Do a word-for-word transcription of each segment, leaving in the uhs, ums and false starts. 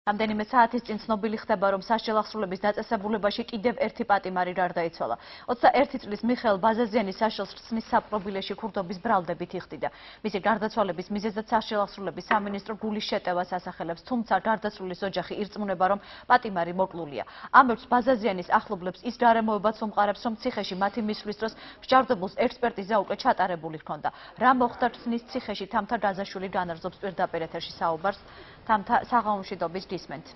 რამდენიმე საათის წინ ცნობილი ხდება, რომ სასჯელ აღსრულების დაწესებულებაში კიდევ ერთი პატიმარი გარდაიცვალა. ოცდაერთი წლის მიხეილ ბაზაზიანი სასჯელს ხსნის საპყრობილეში ქურდობის ბრალდებით იხდიდა. მისი გარდაცვალების მიზეზად სასჯელ აღსრულების სამინისტრო გულის შეტევას ასახელებს, თუმცა გარდაცვლილის ოჯახი ირწმუნება, რომ პატიმარი მოკლულია. ამბობს ბაზაზიანის ახლობლებს ის გარემოებაც უმყარებს, რომ ციხეში მათი მისვლის დროს მსჯავრდებულს ექსპერტიზა უკვე ჩატარებული ჰქონდა. რა მოხდა ხსნის ციხეში თამთა გაზაშვილი განარზობს პირდაპირ ეთერში საუბარს. თამთა საღამომშვიდობის გისმენთ.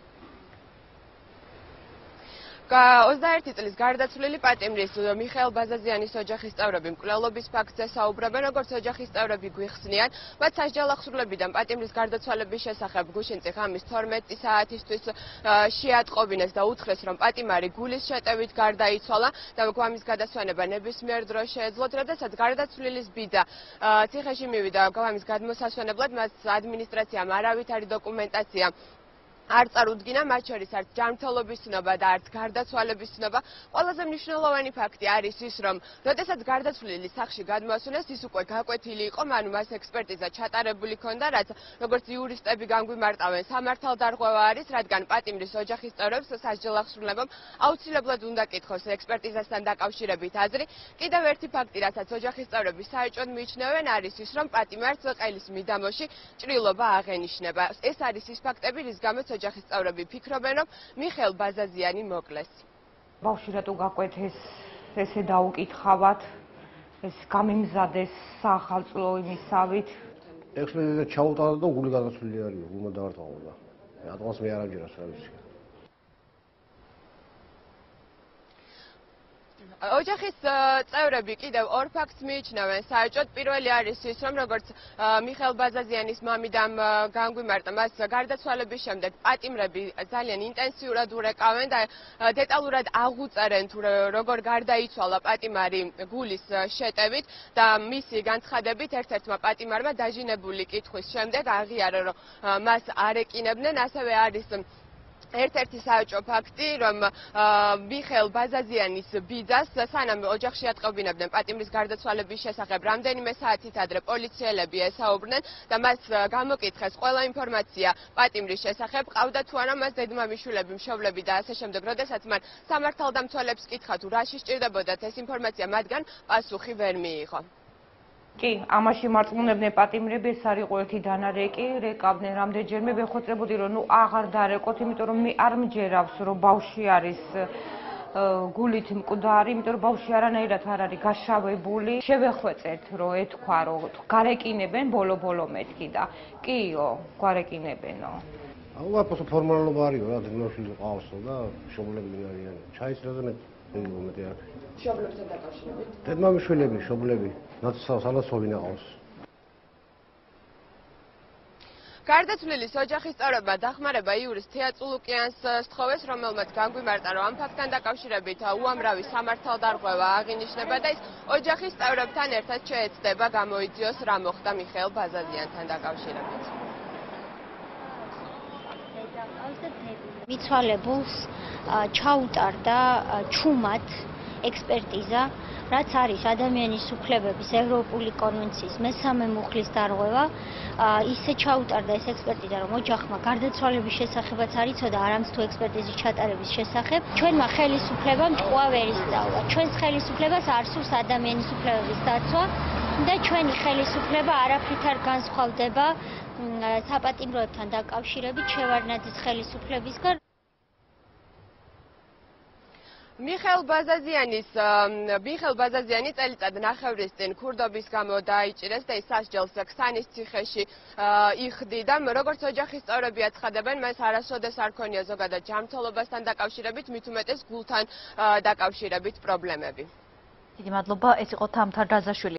ოცდაერთი წლის გარდაცვლილი პატიმრის მიხეილ ბაზაზიანის ოჯახის წევრები მკვლელობის ფაქტზე საუბრობენ, როგორც ოჯახის წევრები გვიხსნიან, მათ სასჯელ აღსრულებიდან პატიმრის გარდაცვალების შესახებ გუშინწი ღამის თორმეტი საათისთვის შეატყობინეს და უთხრეს, რომ პატიმარი გულის შეტევით გარდაიცვალა და გვამის გადასვენება ნებისმიერ დროს შეეძლოთ, როდესაც გარდაცვლილის ბიძა ციხეში მივიდა გვამის გადმოსასვენებლად, მას ადმინისტრაციამ არავითარი დოკუმენტაცია არ წარუდგინა, მათ შორის არც ჯანმრთელობის ცნობა და არც გარდაცვალების ცნობა. ყველაზე მნიშვნელოვანი ფაქტი არის ის, რომ როდესაც გარდაცვლილი სახლში გადმოასვენეს, ის უკვე გაკვეთილი იყო, ანუ მას ექსპერტიზა ჩატარებული ჰქონდა, რაც როგორც იურისტები განგვიმარტავენ, სამართალდარღვევა არის, რადგან პატიმრის ოჯახის წევრებს სასჯელ აღსრულებამ აუცილებლად უნდა კითხოს ექსპერტიზასთან დაკავშირებით აზრი. კიდევ ერთი ფაქტი, რასაც ოჯახის წევრები საეჭვოდ მიიჩნევენ, არის ის, რომ პატიმარს ყელის მიდამოში ჭრილობა აღენიშნება. ეს არის ის ფაქტები, რის გამოც ოჯახის წევრები ფიქრობენ, რომ მიხეილ ბაზაზიანი მოკლეს. ბავშვი რატო გაკვეთეს, ესე დაუკითხავთ, ეს გამიმზადეს საახალწლო იმისავით. ექსპერტიზა ჩაუტარა და გული გადაცვლილი არის, გულმა დაარტყამოდა. რატომაც მე არ ამჯერებს რა ვიცი. ოჯახის წევრები კიდევ ორ ფაქტს მიიჩნევენ საეჭვოდ. პირველი არის ის, რომ როგორც მიხეილ ბაზაზიანის მამიდამ განგვიმარტა, მას გარდაცვალების შემდეგ პატიმრები ძალიან ინტენსიურად ურეკავენ და დეტალურად აღუწერენ თუ როგორ გარდაიცვალა პატიმარი გულის შეტევით და მისი განცხადებით ერთ-ერთმა პატიმარმა დაჟინებული კითხვის შემდეგ აღიარა, რომ მას არ ეკინებდნენ. ასევე არის ერთ-ერთი საეჭვო ფაქტი, რომ მიხეილ ბაზაზიანის ბიძას სანამ ოჯახში ატყობინებდნენ პატიმრის გარდაცვალების შესახებ, რამდენიმე საათით ადრე პოლიციელები ესაუბრნენ და მას გამოკითხეს ყველა ინფორმაცია პატიმრის შესახებ, ყავდა თუ არა მას დედმამიშვილები, მშობლები და ასე შემდეგ. როდესაც მან სამართალდამცველებს კითხა თუ რაში სჭირდებოდათ ეს ინფორმაცია, მათგან პასუხი ვერ მიიღო. კი, ამაში მარწმუნებდნენ პატიმრები, ეს არ იყო ერთი დანარეკი, რეკავდნენ რამდენჯერმე, ვეხოცებოდი, რომ ნუ აღარ დარეკოთ, იმიტომ რომ მე არ მჯერავს, რომ ბავშვი არის გულით მკვდარი, იმიტომ რომ ბავშვი არანაირად არ არის გაშავებული. შევეხვეწეთ, რომ ეთქვა, რომ გარეკინებენ ბოლო-ბოლო მეთქი და კიო, გარეკინებენო. აბა ფორმალობა არისო რა, დედმამიშვილი ყავსო და მშობლები არიან. ჩაიცრა და მე მომენტი არ. მშობლებთან დაკავშირებით? დედმამიშვილები, მშობლები, სალოცავი ნაყავს. გარდაცვლილის ოჯახის წევრებმა დახმარება იურის თეატრულუკიანს სთხოვეს, რომელმაც განგვიმარტა, რომ ამ ფაქტთან დაკავშირებით უამრავი სამართალდარღვევა აღინიშნება და ის ოჯახის წევრებთან ერთად შეეცდება გამოიძიოს, რა მოხდა მიხეილ ბაზაზიანთან დაკავშირებით. მიცვალებულს ჩაუტარდა ჩუმად ექსპერტიზა, რაც არის ადამიანის უფლებების ევროპული კონვენციის მესამე მუხლის დარღვევა. ისე ჩაუტარდა ეს ექსპერტიზა, რომ ოჯახმა გარდაცვალების შესახებაც არ იცოდა, არამც თუ ექსპერტიზის ჩატარების შესახებ. ჩვენმა ხელისუფლებამ ჭკუა ვერ ისწავლა. ჩვენს ხელისუფლებას არ სურს ადამიანის უფლებების დაცვა და ჩვენი ხელისუფლება არაფრით არ განსხვავდება საპატიმროებთან დაკავშირებით შევარდნაძის ხელისუფლებისგან. მიხეილ ბაზაზიანის მიხეილ ბაზაზიანი წელიწად ნახევრის წინ ქურდობის გამო დაიჭირეს და ის სასჯელს ქსანის ციხეში იხდიდა. როგორც ოჯახის წევრები აცხადებენ, მას არასოდეს არ ქონია ზოგადად ჯანმრთელობასთან დაკავშირებით, მით უმეტეს გულთან დაკავშირებით პრობლემები. დიდი მადლობა, ეს იყო თამთა გაზაშვილი.